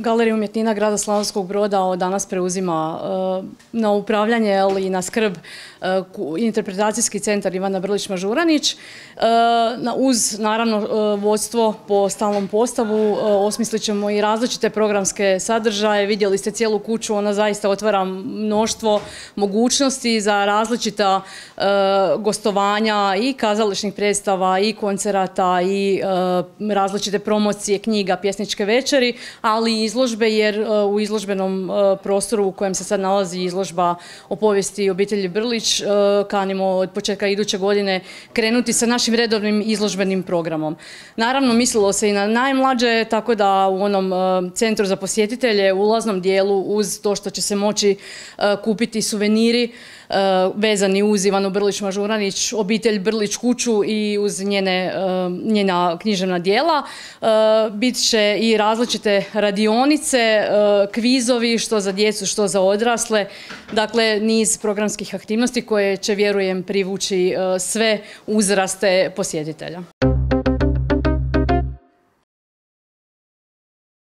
Galerija umjetnina grada Slavonskog Broda od danas preuzima na upravljanje i na skrb interpretacijski centar Ivana Brlić-Mažuranić. Uz, naravno, vodstvo po stalnom postavu osmislit ćemo i različite programske sadržaje. Vidjeli ste cijelu kuću, ona zaista otvara mnoštvo mogućnosti za različita gostovanja i kazališnih predstava i koncerata i različite promocije knjiga, pjesničke večeri, ali i izložbe, jer u izložbenom prostoru u kojem se sad nalazi izložba o povijesti obitelji Brlić kanimo od početka iduće godine krenuti sa našim redovnim izložbenim programom. Naravno, mislilo se i na najmlađe, tako da u onom centru za posjetitelje, u ulaznom dijelu, uz to što će se moći kupiti suveniri vezani uz Ivanu Brlić-Mažuranić, obitelj Brlić kuću i uz njena književna djela, bit će i različite radionice, kvizovi, što za djecu, što za odrasle. Dakle, niz programskih aktivnosti koje će, vjerujem, privući sve uzraste posjetitelja.